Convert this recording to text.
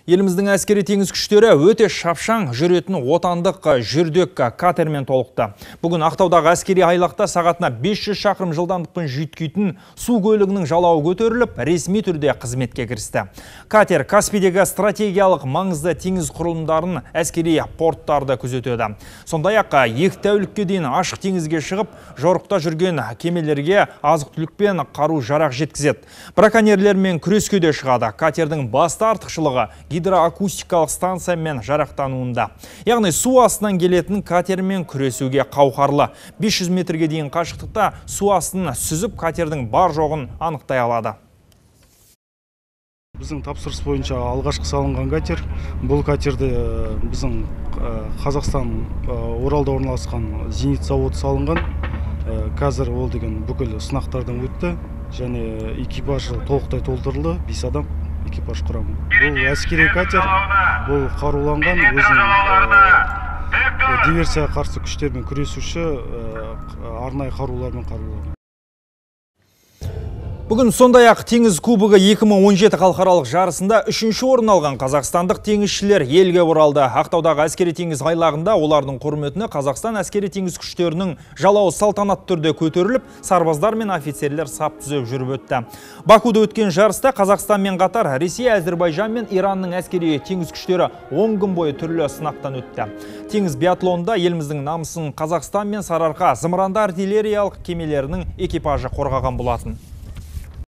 Еліміздің әскери теңіз күштері өте шапшаң жүретін отандық жүрдек катермен толықты. Бүгін Ақтаудағы әскери айлақта сағатына 500 шақырым жылдамдықпен жүйткитін су көлігінің жалауы көтеріліп, ресми түрде қызметке кірісті. Катер Каспийдегі стратегиялық маңызды теңіз құрылымдарын әскери порттарды күзетеді. Сондай-ақ 2 тәулікке дейін ашық теңізге шығып, жорықта жүрген кемелерге азық-түлік пен қару-жарақ жеткізеді. Браконьерлермен күреске де шығады. Катердің басты артықшылығы гидроакустикалық станциямен жарақтануында. Яғни су астынан келетін катермен күресуге қауқарлы. 500 метрге дейін қашықтықта су астын сүзіп, катердің бар жоғын анықтай алады. Біздің тапсырыс бойынша алғашқы салынған катер. Бұл катерді біздің Қазақстан Оралда орналасқан зенит заводы салынған. Қазір ол деген бүкіл сынақтардан өтті және экипажы толықтай толтырылды, 5 адам экипаж құрамы. Бұл әскери катер, бұл қаруланған, өзінің диверсияға қарсы күштермен күресуші арнайы қарулармен қаруланған. Бүгін сондай-ақ теңіз кубогы 2017 халықаралық жарысында 3-ші орын алған қазақстандық теңізшілер елге оралды. Ақтаудағы әскери теңіз айлағында олардың құрметіне Қазақстан әскери теңіз күштерінің жалауы салтанатты түрде көтеріліп, сарбаздар мен офицерлер сап түзеп жүріп өтті. Бакуде өткен жарыста Қазақстанмен қатар Ресей, Әзербайжан мен Иранның әскери теңіз күштері 10 күн бойы түрлі сынақтан өтті. Теңіз биатлонында еліміздің намысын Қазақстан мен Сарыарқа зымыранды артиллериялық кемелерінің экипажы қорғаған болатын.